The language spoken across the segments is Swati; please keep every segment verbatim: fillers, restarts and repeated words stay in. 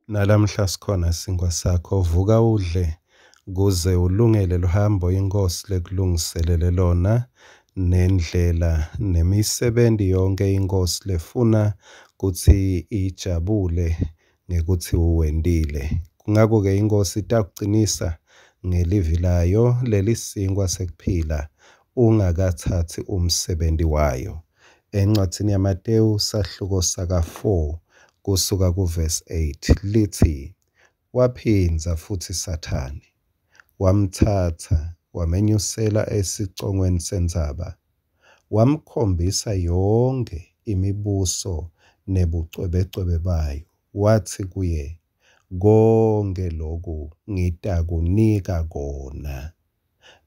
Nalamhla sikhona sinkwa sakho, vuka udle kuze ulungele luhambo iNkhosi lekulungiselele lona nendlela nemisebenti yonke iNkhosi lefuna kutsi ijabule ngekutsi uwentile. Ngakho-ke iNkhosi itakucinisa ngelivi layo lelisinkwa sekuphila ungakatsatsi umsebenti wayo. Encwadzini yaMatewu sahluko saka-four kusuka kuvesi eight litsi, waphindza futsi Sathane wamtsatsa wamenyusela esicongweni sentsaba, wamkhombisa yonkhe imibuso nebucwebecwebe bayo, watsi kuye, konkhe loku ngitakunika kona,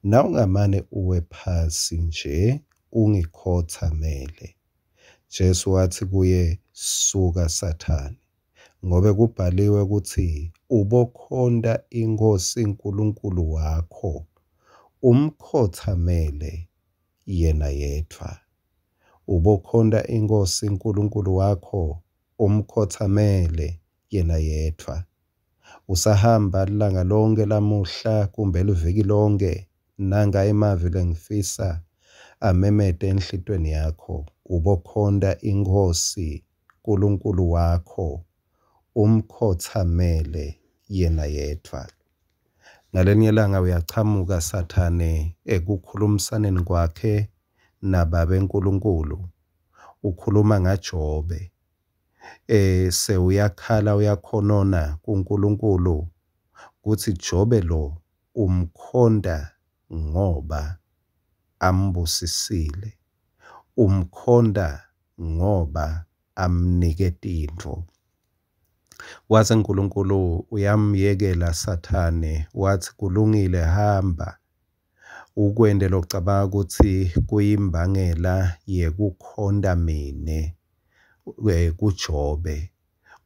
nawungamane uwe phasi nje ungikhotsamele. Jesu watsi kuye, suka Sathane, ngobe kubhaliwe kutsi ubokhonta iNkhosi Nkulunkulu wakho, umkhotsamele yena yedvwa. Ubokhonta iNkhosi Nkulunkulu wakho, umkhotsamele yena yedvwa. Usahamba lilanga lonke lamuhla kumbe liviki lonke, nanga emavi lengifisa amemete enhlitiyweni yakho. Ubokhonta iNkhosi Nkulunkulu wakho, umkhotsamele yena yedvwa. Ngalenye ilanga uyachamuka Sathane ekukhulumisaneni kwakhe naBabe Nkulunkulu, ukhuluma ngaJobe. E, sewuyakhala uyakhonona kuNkulunkulu kutsi Jobe lo umkhonta ngoba ambusisile, umkhonta ngoba amnike tintfo. Wase Nkulunkulu uyamyekela Sathane, watsi kulungile hamba ukwente locabanga kutsi kuyimbangela yekukhonta mine kuJobe.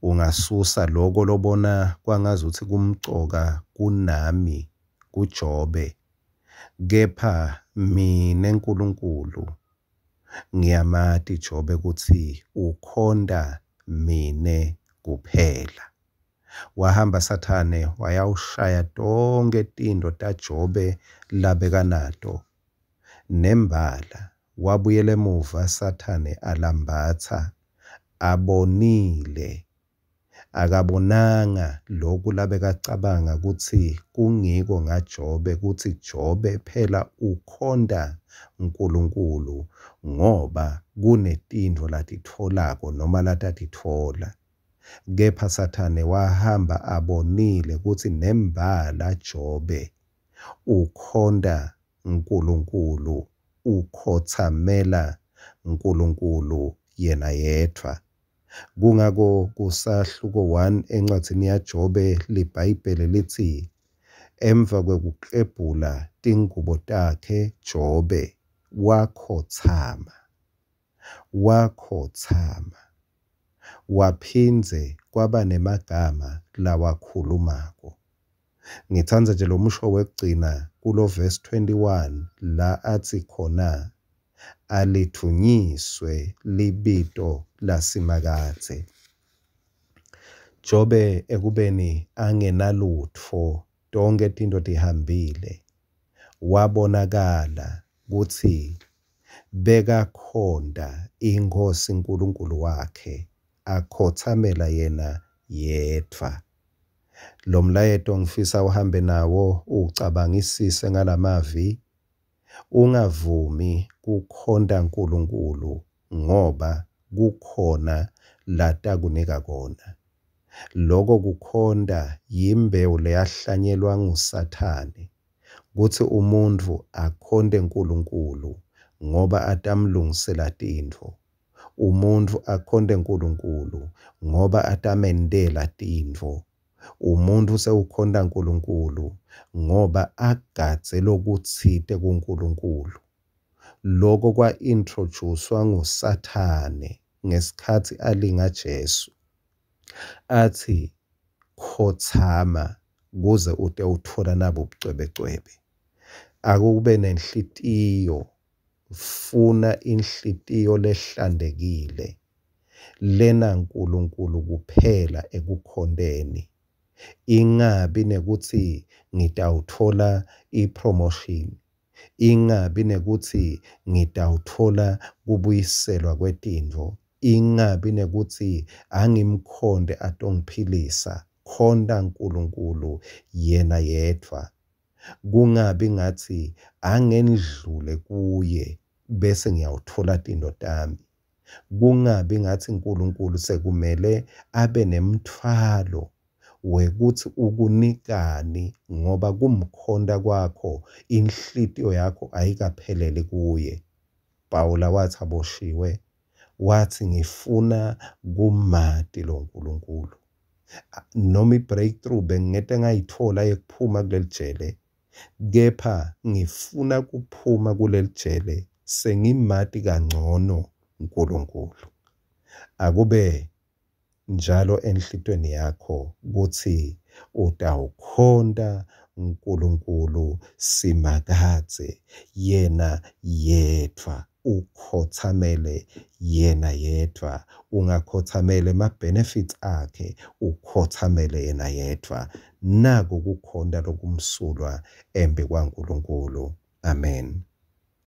Ungasusa loko lobona kwangazuthi kumcoka kunami kuJobe, kepha mine Nkulunkulu ngiyamati Jobe kutsi ukhonta mine kuphela. Wahamba Sathane wayawushaya tonkhe tintfo taJobe labekanato. Nembala wabuyela emuva Sathane alambatsa, abonile. Akabonanga loku labekacabanga kutsi kungiko ngaJobe, kutsi Jobe phela ukhonta Nkulunkulu ngoba kunetintfo latitfolako noma latatitfola. Kepha Sathane wahamba abonile kutsi nembala Jobe ukhonta Nkulunkulu, ukhotsamela Nkulunkulu yena yedvwa. Kungako kusahluko one encwadzini yaJobe liBhayibheli litsi emva kwekuklebhula tingubo takhe Jobe wakhotsama, wakhotsama waphindze kwaba nemagama lawakhulumako. Ngitsandza nje lo musho wekugcina kulo verse twenty-one la atsi khona alidvunyiswe libito laSimakadze. Jobe ekubeni angenalutfo, tonkhe tintfo tihambile, wabonakala kutsi bekakhonta iNkhosi Nkulunkulu wakhe, akhotsamela yena yedvwa. Lo mlayeto ngifisa uhambe nawo ucabangisise ngalamavi. Ungavumi kukhonta Nkulunkulu ngoba kukhona latakunika kona. Loko kukhonta yimbewu leyahlanyelwa nguSathane kutsi umuntfu akhonte Nkulunkulu ngoba atamlungisela tintfo. Umuntfu akhonte Nkulunkulu ngoba atamentela tintfo. Umuntfu sewukhonta Nkulunkulu ngoba agadze lokutsite kuNkulunkulu. Loko kwa-introduce-wa nguSathane ngesikhatsi alinga Jesu. Atsi khotsama kuze ute utfola nabo bucwebecwebe. Akube nenhlitiyo, funa inhlitiyo lehlantekile Lena Nkulunkulu kuphela ekukhonteni. Ingabi nekuthi ngitawuthola i-promotion, ingabi nekuthi ngitawuthola kubuyiselwa kwetintfo, ingabi nekuthi angimkhonte atongiphilisa. Khonta Nkulunkulu yena yedvwa. Kungabi ngathi angendlule kuye bese ngiyawuthola tintfo tami. Kungabi ngathi Nkulunkulu sekumele abe nemtfwalo wekuthi ukunikani, ngoba kumkhonta kwakho inhlitiyo yakho ayikapheleli kuye. Pawula wathi aboshiwe, wathi ngifuna kumati lo Nkulunkulu. Noma i-breakthrough bengingete ngayithola yekuphuma kuleli jele, kepha ngifuna kuphuma kuleli jele sengimati kangcono Nkulunkulu. Akube njalo enhlitiyweni yakho kutsi utawukhonta Nkulunkulu Simakadze yena yedvwa, ukhothamele yena yedvwa, ungakhothamela ema-benefits akhe, ukhothamele yena yedvwa. Naku kukhonta lokumsulwa embikwaNkulunkulu. Amen.